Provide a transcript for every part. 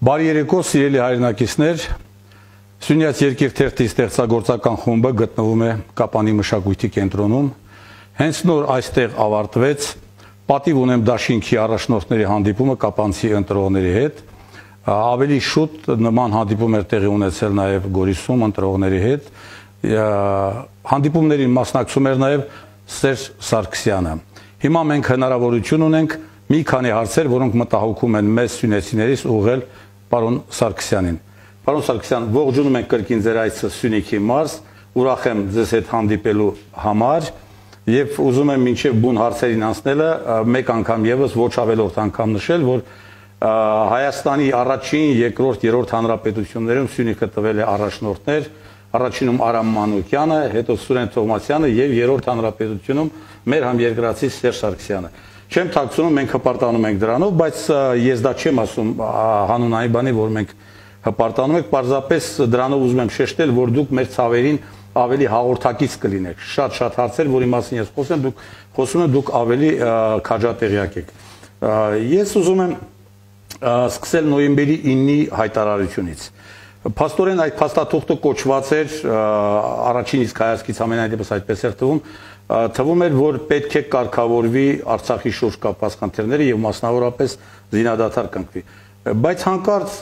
Բարի երեկո, սիրելի հայրենակիցներ, Սյունյաց երկիր թերթի ստեղծագործական խումբը գտնվում է Կապանի մշակույթի կենտրոնում։ Հենց նոր այստեղ ավարտվեց պատիվ ունեմ դաշինքի առաջնորդների հանդիպումը կապանցի ընտրողների հետ։ Ավելի շուտ նման հանդիպում էր տեղի ունեցել նաև Գորիսում ընտրողների հետ։ Հանդիպումներին մասնակցում էր նաև Սերժ Սարգսյանը։ Հիմա մենք հնարավորություն ունենք մի քանի հարցեր, որոնք մտահոգում են մեզ սյունեցիներից, ուղղել պարոն Սարգսյանին։ Պարոն Սարգսյան, ողջունում ենք կրկին ձեր այցը Սյունիքի մարզ, ուրախ եմ ձեզ հետ հանդիպելու համար եւ ուզում եմ մինչեւ բուն հարցերին անցնելը մեկ անգամ եւս ոչ ավելորդ անգամ նշել, որ Հայաստանի առաջին, երկրորդ, երրորդ հանրապետություններում Սյունիքը տվել է առաջնորդներ, առաջինում Արամ Մանուկյանը, հետո Սուրեն Թովմասյանը եւ երրորդ հանրապետությունում մեր համերկրացի Սերժ Սարգսյանը։ Չեմ թաքցնում, մենք հպարտանում ենք դրանով, բայց ես դա չեմ ասում հանուն այն բանի, որ մենք հպարտանում ենք, պարզապես դրանով ուզում եմ շեշտել, որ դուք մեր ցավերին ավելի հաղորդակից կլինեք։ Շատ հարցեր, որի մասին ես խոսում եմ, դուք ավելի քաջատեղյակ եք։ Ես ուզում եմ սկսել նոյեմբերի 9-ի հայտարարությունից։ Փաստորեն այդ փաստաթուղթը կոչված էր առաջին իսկ հայացքից ամենայն դեպս այդպես էր թվում էր, որ պետք է կարգավորվի Արցախի շուրջ կապված խնդիրները եւ մասնավորապես զինադադար կնքվի։ Բայց հանկարծ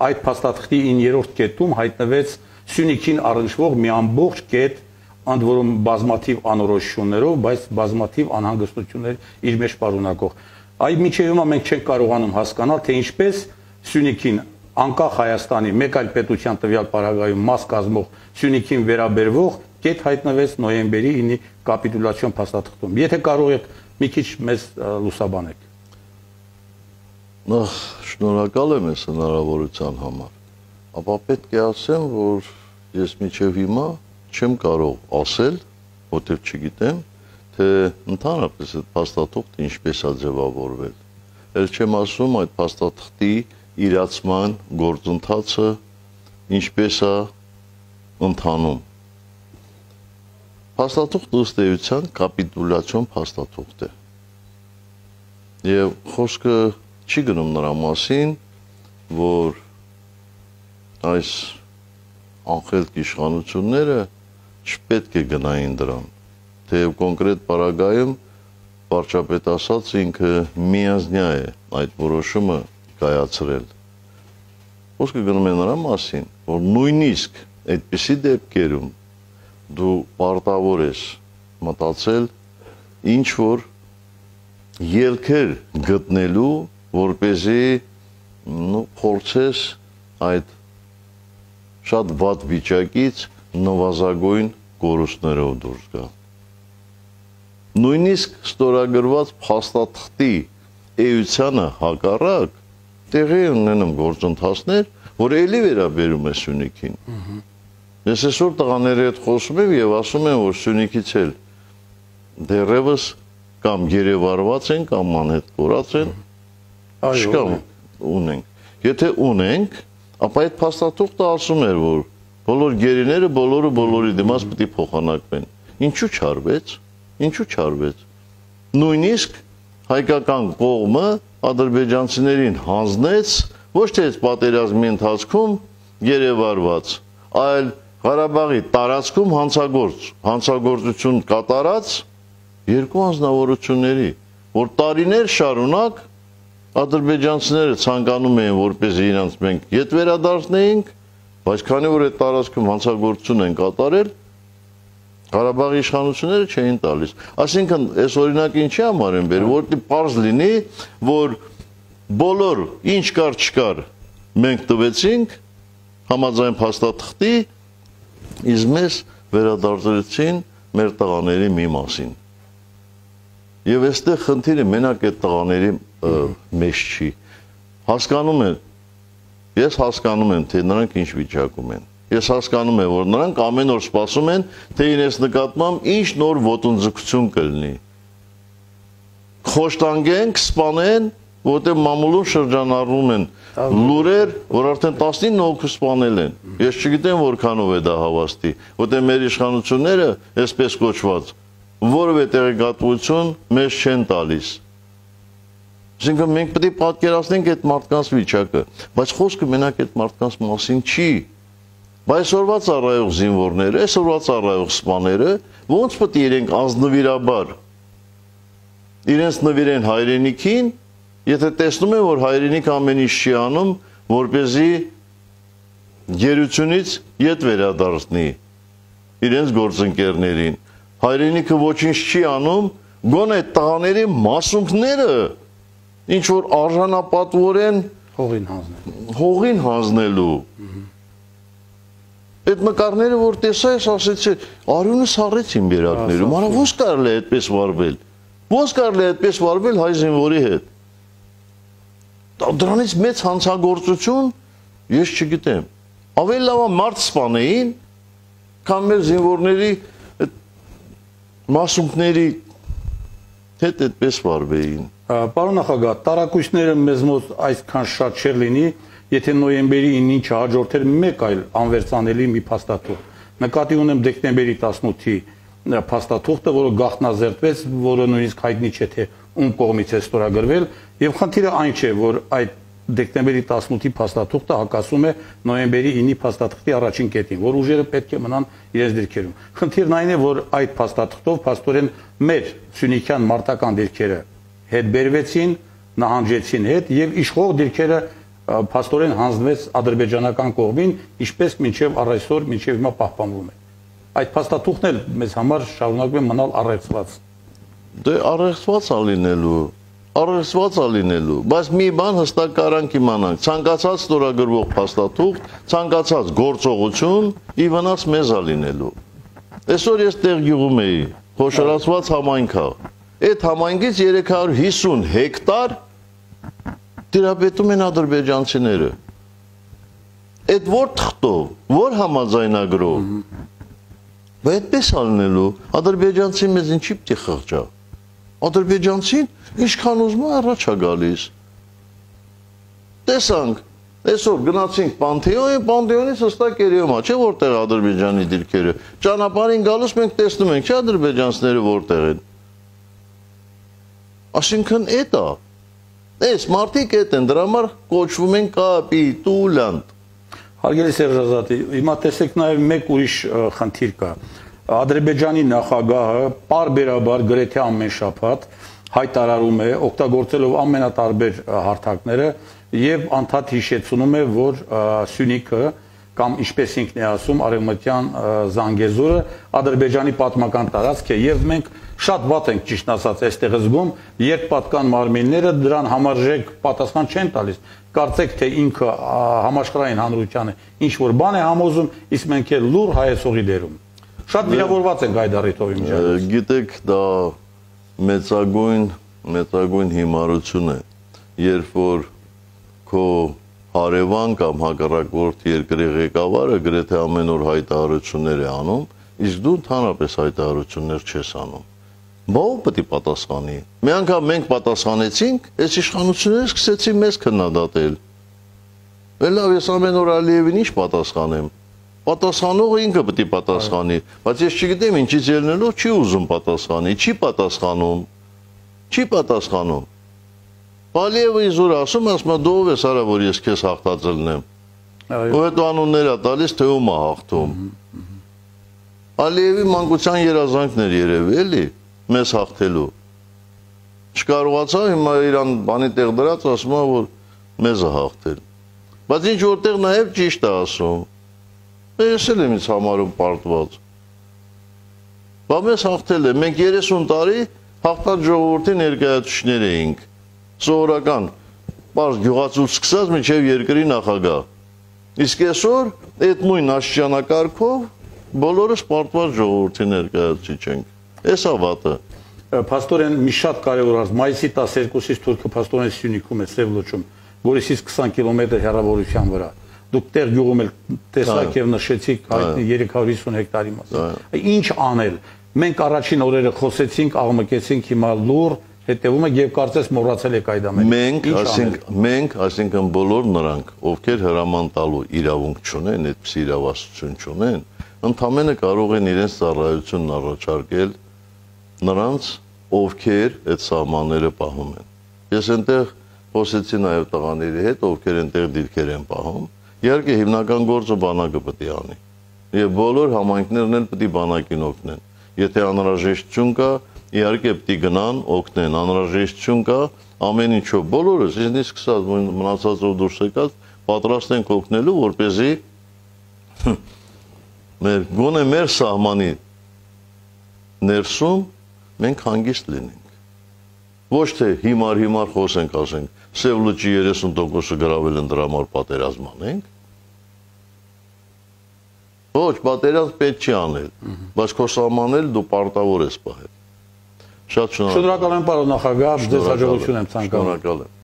այդ փաստաթղթի 9-րդ կետում հայտնվեց Սյունիքին առնչվող մի ամբողջ կետ, ընդ որում բազմաթիվ անորոշություններով, բայց բազմաթիվ անհանգստություններ իր մեջ պարունակող։ Այդ միջև հիմա մենք չենք կարողանում հասկանալ, թե ինչպես Սյունիքին անկախ Հայաստանի մեկ այլ պետության տվյալ պարագայում մաս կազմող Սյունիքին վերաբերվող կետ հայտնվեց նոյեմբերի 9-ի կապիտուլյացիոն փաստաթղթում։ Եթե կարող եք մի քիչ մեզ լուսաբանեք։ Նախ շնորհակալ եմ այս հնարավորության համար, ապա պետք է ասեմ, որ ես մինչև հիմա չեմ կարող ասել, որտեղ չգիտեմ, թե ընդհանրապես այդ փաստաթուղթը ինչպես է ձևավորվել։ Էլ չեմ ասում այդ փաստաթղթի իրացման գործընթացը ինչպես է ընթանում։ Փաստաթուղթը ըստ էության կապիտուլյացիոն փաստաթուղթ է։ Եվ խոսքը չի գնում նրա մասին, որ այս անխելք իշխանությունները չպետք է գնային դրան, թեև կոնկրետ պարագայում վարչապետ ասաց ինքը միանձնյա է այդ որոշումը կայացրել։ Խոսքը գնում է նրա մասին, որ նույնիսկ այդպիսի դեպքերում դու պարտավոր ես մտածել ինչ որ ելքեր գտնելու, որպեսզի փորձես այդ շատ վատ վիճակից նվազագույն կորուստներով դուրս գալ։ Նույնիսկ ստորագրված փաստաթղթի էությանը հակառակ տեղի ունենում գործընթացներ, որ էլի վերաբերում է Սյունիքին։ Ես այսօր տղաների հետ խոսում եմ եւ ասում եմ, որ Սյունիքից էլ դեռևս կամ գերեվարված են, կամ անհետ կորած են, չկամ ունենք։ Եթե ունենք, ապա այդ փաստաթուղթը ասում էր, որ բոլոր գերիները բոլորը բոլորի դիմաց պետք է փոխանակվեն։ Ինչու չարվեց։ Նույնիսկ հայկական կողմը ադրբեջանցիներին հանձնեց ոչ թե այս պատերազմի ընթացքում գերեվարված, այլ Ղարաբաղի տարածքում հանցագործություն կատարած երկու անձնավորությունների, որ տարիներ շարունակ ադրբեջանցիները ցանկանում էին, որպեսզի իրենց մենք ետ վերադարձնեինք, բայց քանի որ այդ տարածքում հանցագործություն են կատարել, Ղարաբաղի իշխանությունները չէին տալիս։ Այսինքն, այս օրինակը ինչի համար են բերել, որտեղ պարզ լինի, որ բոլոր ինչ կար չկար մենք տվեցինք համաձայն փաստաթղթի, իսկ մեզ վերադարձրեցին մեր տղաների մի մասին։ Եվ այստեղ խնդիրը մենակ այդ տղաների մեջ չի։ Ես հասկանում եմ, թե նրանք ինչ վիճակում են։ Ես հասկանում եմ, որ նրանք ամեն օր սպասում են, թե իրենց նկատմամբ ինչ նոր ոտնձգություն կլինի։ Խոշտանգենք, սպանեն, որտեղ մամուլում շրջանառվում են լուրեր, որ արդեն 19 հոգու սպանել են։ Ես չգիտեմ որքանով է դա հավաստի, որտեղ մեր իշխանությունները, այսպես կոչված, որևէ տեղեկատվություն մեզ չեն տալիս։ Այսինքն մենք պետք է պատկերացնենք այդ մարդկանց վիճակը, բայց խոսքը մենակ այդ մարդկանց մասին չի։ Այսօրվա ծառայող զինվորները, այսօրվա ծառայող սպաները ոնց պետք է իրենք անձնվիրաբար իրենց նվիրեն հայրենիքին, եթե տեսնում են, որ հայրենիք ամեն ինչ չի անում, որպեսզի գերությունից ետ վերադարձնի իրենց գործընկերներին։ Հայրենիքը ոչինչ չի անում, գոնե այդ տղաների մասունքները ինչ որ արժանապատվորեն հողին հանձնելու։ Այդ նկարները, որ տեսա ես, ասեցի, արյունը սառեց իմ բերակներում, արա ոնց կարելի է այդպես վարվել։ Ոնց կարելի է այդպես վարվել հայ զինվորի հետ։ Դրանից մեծ հանցագործություն ես չգիտեմ։ Ավելի լավ է մարդ սպանեին, քան մեր զինվորների մասունքների հետ այդպես վարվեին։ Պարոն նախագահ, տարակույցները մեզ մոտ այսքան շատ չէր լինի, եթե նոյեմբերի 9-ին չհաջորդեր մեկ այլ անվերցանելի մի փաստաթուղթ։ Նկատի ունեմ դեկտեմբերի 18-ի փաստաթուղթը, որը գաղտնազերծվեց, որը նույնիսկ հայտնի չէ թե ում կողմից է ստորագրվել, եւ խնդիրը այն չէ, որ այդ դեկտեմբերի 18-ի փաստաթուղթը հակասում է նոյեմբերի 9-ի փաստաթղթի առաջին կետին, որ ուժերը պետք է մնան իրենց դիրքերում։ Խնդիրն այն է, որ այդ փաստաթղթով փաստորեն մեր սյունիքյան մարտական դիրքերը հետ բերվեցին, նահանջեցին հետ եւ իշխող դիրքերը փաստորեն հանձնվեց ադրբեջանական կողմին, ինչպես մինչև առայսօր, մինչև հիմա պահպանվում է։ Այդ փաստաթուղթն էլ մեզ համար շարունակում է մնալ առեղծված։ Դե առեղծված է լինելու, բայց մի բան հստակ կարանք իմանանք, ցանկացած ստորագրվող փաստաթուղթ, ցանկացած գործողություն ի վնաս մեզ է լինելու։ Այսօր ես տեղ գյուղում էի, խոշորացված համայնք է։ Այդ համայնքից 350 հեկտար տիրապետում են ադրբեջանցիները։ Այդ որ թղթով, որ համաձայնագրով։ Բայց այդպես ալնելու, ադրբեջանցին մեզ ինչի պիտի խղճա։ Ադրբեջանցին ինչքան ուզում է առաջ է գալիս։ Տեսանք, այսօր գնացինք Պանթեոն, Պանթեոնից հստակ երևում է, չէ՞ որտեղ Ադրբեջանի դիրքերը։ Ճանապարհին գալուց մենք տեսնում ենք, չէ՞ ադրբեջանցիները որտեղ են։ Այսինքն էդ է։ Այս մարդիկ էդ են, դրա համար կոչվում են կապիտուլյանտ։ Հարգելի Սերժ Ազատի, հիմա տեսեք նաև մեկ ուրիշ խնդիր կա։ Ադրբեջանի նախագահը պարբերաբար գրեթե ամեն շաբաթ հայտարարում է, օգտագործելով ամենատարբեր հարթակները եւ անդադ հիշեցնում է, որ Սյունիքը կամ ինչպես ինքն է ասում, արևմտյան Զանգեզուրը Ադրբեջանի պատմական տարածք է եւ մենք շատ վատ ենք ճիշտ ասած այստեղ զգում, երբ պատկան մարմինները դրան համարժեք պատասխան չեն տալիս։ Կարծեք թե ինքը համաշխարհային հանրությանը ինչ որ բան է համոզում, իսկ մենք էլ լուր հայեցողի դերում։ Շատ վիրավորված ենք այդ առիթով իմիջիայլոց։ Գիտեք, դա մեծագույն հիմարություն է, երբ որ քո հարևան կամ հակառակորդ երկրի ղեկավարը գրեթե ամեն օր հայտարարություններ է անում, իսկ դու ընդհանրապես հայտարարություններ չես անում։ Բա ով պետք է պատասխանի։ Մի անգամ մենք պատասխանեցինք, այս իշխանությունները սկսեցին մեզ քննադատել։ Լավ, ես ամեն օր Ալիևին ինչ պատասխանեմ։ Պատասխանողը ինքը պետք է պատասխանի, բայց ես չգիտեմ ինչից ելնելով չի ուզում պատասխանի, չի պատասխանում։ Ալիևը իզուր ասում է դու ով ես արա, որ ես քեզ հաղթածելնեմ։ Ու հետո անուններ է տալիս, թե ում է հաղթում։ Ալիևի մանկության երազանքն էր երևի, էլի, մեզ հաղթելու։ Չկարողացավ, հիմա իրան բանի տեղ դրած ասում է, որ մեզ է հաղթել։ Բայց ինչ որտեղ նաև ճիշտ է ասում։ Ես էլ եմ ինձ համարում պարտված։ Բա մեզ հաղթել է, մենք 30 տարի հաղթած ժողովրդի ներկայացուցիչներ էինք, սովորական, պարզ գյուղացուց սկսած մինչև երկրի նախագահ։ Իսկ այսօր այդ նույն աստիճանակարգով բոլորս պարտված ժողովրդի ներկայացուցիչ ենք։ Էս է վատը։ Փաստորեն մի շատ կարևոր հարց, մայիսի 12-ից Թուրքը փաստորեն Սյունիքում է, Սև լճում, Գորիսից 20 կիլոմետր հեռավորության վրա։ Դուք տեղ գյուղում էլ տեսաք եւ նշեցիք հայտնի 350 հեկտարի մասին։ Ինչ անել։ Մենք առաջին օրերը խոսեցինք, աղմկեցինք, հիմա լուր հետևում եք եւ կարծես մոռացել եք այդ ամենը։ Մենք, այսինքն բոլոր նրանք, ովքեր հրաման տալու իրավունք չունեն, այդպիսի իրավասություն չունեն, ընդամենը կարող են իրենց ծառայությունն առաջարկել նրանց, ովքեր այդ սահմանները պահում են։ Ես այնտեղ խոսեցի նաև տղաների հետ, ովքեր այնտեղ դիրքեր են պահում։ Իհարկե հիմնական գործը բանակը պետք է անի։ Եվ բոլոր համայնքներն էլ պետք է բանակին օգնեն։ Եթե անհրաժեշտություն կա, իհարկե պետք է գնան, օգնեն, անհրաժեշտություն կա, ամեն ինչով բոլորս, ինձնից սկսած մնացածով դուրս եկած, պատրաստ ենք օգնելու, որպեսզի գոնե մեր սահմանի ներսում մենք հանգիստ լինենք։ Ոչ թե հիմար խոսենք, ասենք, Սև լճի 30%-ը գրավել են դրա համար պատերազմ անենք։ Ոչ, պատերազմ պետք չի անել, բայց քո սահմանել դու պարտավոր ես պահել։ Շատ շնորհակալ եմ, պարոն նախագահ, ձեզ հաջողություն եմ ցանկանում։ Շնորհակալ եմ։